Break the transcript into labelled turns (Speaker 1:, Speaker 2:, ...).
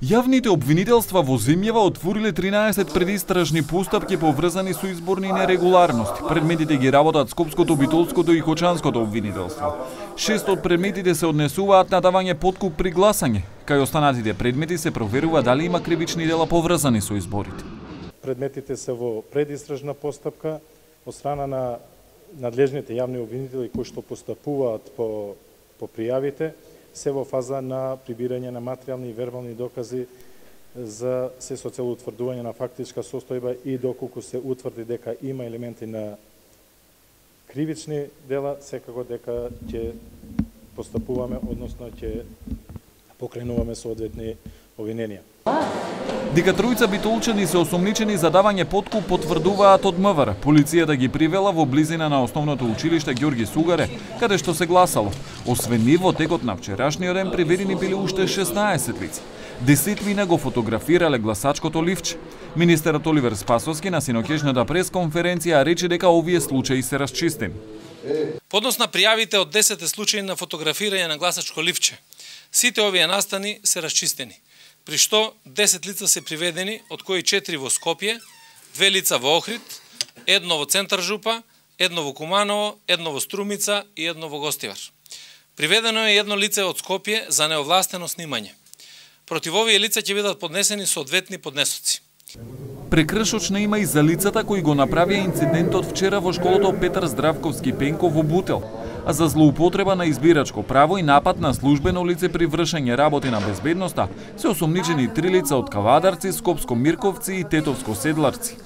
Speaker 1: Јавните обвинителства во земјава отвориле 13 предистражни постапки поврзани со изборни нерегуларности. Предметите ги работат Скопското, Битолското и Кочанското обвинителство. 6 од предметите се однесуваат на давање подкуп при гласање. Кај останатите предмети се проверува дали има кривични дела поврзани со изборите.
Speaker 2: Предметите се во предистражна постапка од страна на надлежните јавни обвинители кои што постапуваат по пријавите, се во фаза на прибирање на материјални и вербални докази за се со цел утврдување на фактичка состојба и доколку се утврди дека има елементи на кривични дела, секако дека ќе постапуваме, односно ќе покренуваме соодветни обвиненија.
Speaker 1: Дека тројца битолчани се осомничени за давање подкуп потврдуваат од МВР. Полицијата ги привела во близина на основното училиште Ѓорги Сугаре, каде што се гласало. Освен нив, во текот на вчерашниот ден приведени биле уште 16 лица. Десетвина го фотографирале гласачкото ливче. Министерот Оливер Спасовски на синоќешната пресконференција рече дека овие случаи се расчистени.
Speaker 3: По однос на пријавите од 10 случаи на фотографирање на гласачко ливче, сите овие настани се расчистени, при што 10 лица се приведени, од кои 4 во Скопје, 2 лица во Охрид, 1 во Центар Жупа, 1 во Куманово, 1 во Струмица и 1 во Гостивар. Приведено е 1 лице од Скопје за неовластено снимање. Против овие лица ќе бидат поднесени соодветни поднесоци.
Speaker 1: Прекршочна има и за лицата кои го направија инцидентот вчера во школото Петар Здравковски Пенков во Бутел, а за злоупотреба на избирачко право и напад на службено лице при вршење работи на безбедноста се осомничени 3 лица од Кавадарци, Скопско Мирковци и Тетовско Седларци.